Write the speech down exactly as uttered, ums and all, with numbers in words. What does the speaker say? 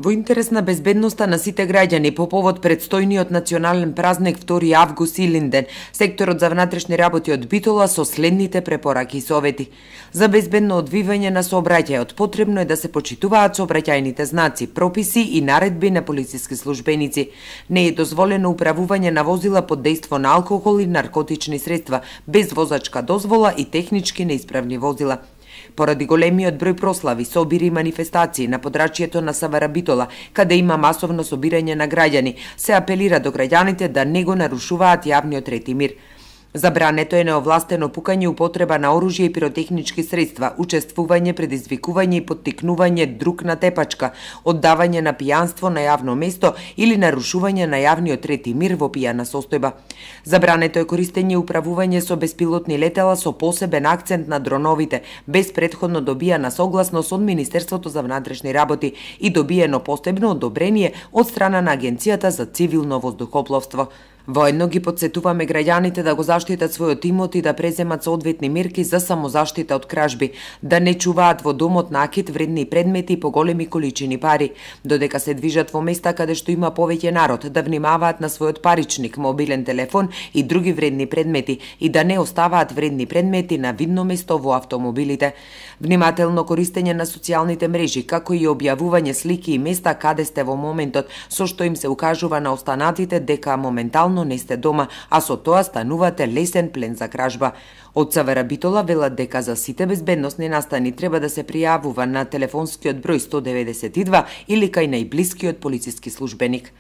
Во интерес на безбедноста на сите граѓани по повод предстојниот национален празник втори август Илинден, секторот за внатрешни работи од Битола со следните препораки и совети. За безбедно одвивање на сообраќајот потребно е да се почитуваат сообраќајните знаци, прописи и наредби на полициски службеници. Не е дозволено управување на возила под дејство на алкохол и наркотични средства, без возачка дозвола и технички неисправни возила. Поради големиот број прослави, собири и манифестации на подрачјето на Савара Битола, каде има масовно собирање на граѓани, се апелира до граѓаните да не го нарушуваат јавниот ред и мир. Забрането е неовластено пукање, употреба на оружје и пиротехнички средства, учествување, предизвикување и поттикнување друг на тепачка, оддавање на пијанство на јавно место или нарушување на јавниот ред и мир во пијана состојба. Забрането е користење и управување со беспилотни летела со посебен акцент на дроновите, без претходно добијана согласност од Министерството за внатрешни работи и добиено постепно одобрение од страна на Агенцијата за цивилно воздухопловство. Воедно ги подсетуваме граѓаните да го заштитат својот имот и да преземат соодветни мерки за самозаштита од кражби, да не чуваат во домот накит вредни предмети по големи количини пари, додека се движат во места каде што има повеќе народ, да внимаваат на својот паричник, мобилен телефон и други вредни предмети и да не оставаат вредни предмети на видно место во автомобилите. Внимателно користење на социјалните мрежи, како и објавување слики и места каде сте во моментот, со што им се укажува на останатите дека моментално не сте дома, а со тоа станувате лесен плен за кражба. Од Савара Битола велат дека за сите безбедносни настани треба да се пријавува на телефонскиот број сто деветдесет и два или кај најблискиот полициски службеник.